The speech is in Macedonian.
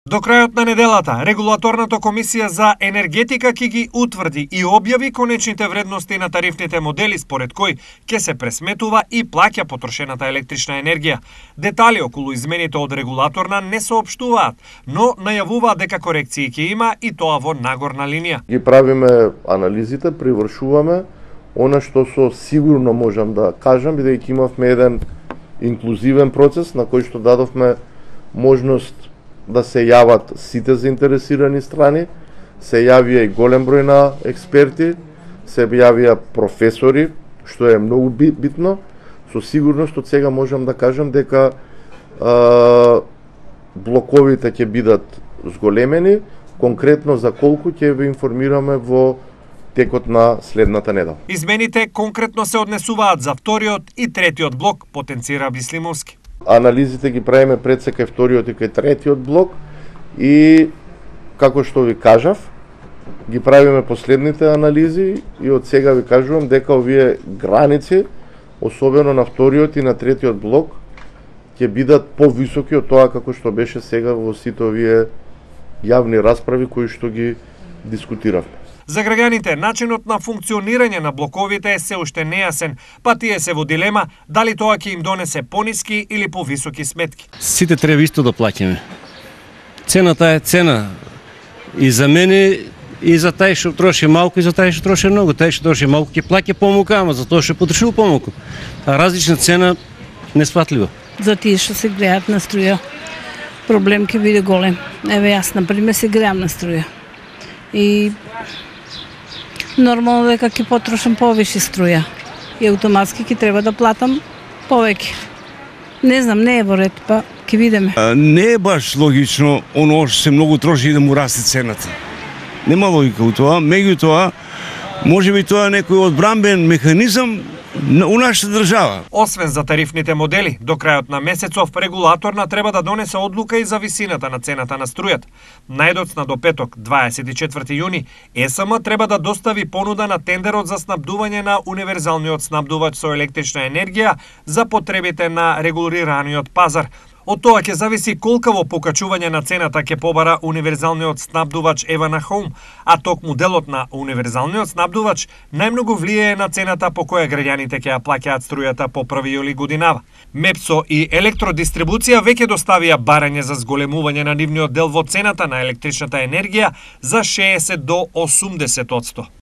До крајот на неделата, Регулаторната комисија за енергетика ќе ги утврди и објави конечните вредности на тарифните модели според кои ќе се пресметува и плаќа потрошената електрична енергија. Детали околу измените од регулаторна не соопштуваат, но најавуваат дека корекции ќе има и тоа во нагорна линија. Ги правиме анализите, привршуваме она што со сигурно можам да кажам, бидејќи имавме еден инклузивен процес на кој што дадовме можност да се јават сите заинтересирани страни, се јавија и голем број на експерти, се јавија професори, што е многу битно. Со сигурност од сега можам да кажам дека блоковите ќе бидат зголемени, конкретно за колку ќе ве информираме во текот на следната недела. Измените конкретно се однесуваат за вториот и третиот блок, потенцира Бислимовски. Анализите ги правиме пред се кај вториот и кај третиот блок и, како што ви кажав, ги правиме последните анализи и од сега ви кажувам дека овие граници, особено на вториот и на третиот блок, ќе бидат повисоки од тоа како што беше сега во сите овие јавни расправи кои што ги дискутиравме. За граѓаните, начинот на функционирање на блоковите е се уште нејасен, па тие се во дилема дали тоа ќе им донесе пониски или повисоки сметки. Сите треба исто да плаќаме. Цената е цена и за мене, и за тај што троши малку, и за тај што троши многу. Тај што троши малку ќе плаќа помалку, ама за тоа што потрошил помалку. А различна цена несфатлива. За тие што се греат на струја, проблем ќе биде голем. Еве јас, например, се греам на струја. И нормално дека ќе потрошам повише струја и автоматски ќе треба да платам повеќе. Не знам, не е во ред, па ќе видиме. Не е баш логично оно што се многу троши и да му расте цената. Нема логика у тоа, меѓутоа можеби тоа е некој одбранбен механизам у нашата држава. Освен за тарифните модели, до крајот на месецов регулаторна треба да донесе одлука и за висината на цената на струјата. Најдоцна до петок, 24 јуни, ЕСМ треба да достави понуда на тендерот за снабдување на универзалниот снабдувач со електрична енергија за потребите на регулираниот пазар. Од тоа ќе зависи колкаво покачување на цената ќе побара универзалниот снабдувач Евана Хоум, а токму делот на универзалниот снабдувач најмногу влијае на цената по која граѓаните ќе ја плаќаат струјата по 1 јули годинава. МЕПСО и Електродистрибуција веќе доставија барање за зголемување на нивниот дел во цената на електричната енергија за 60 до 80%.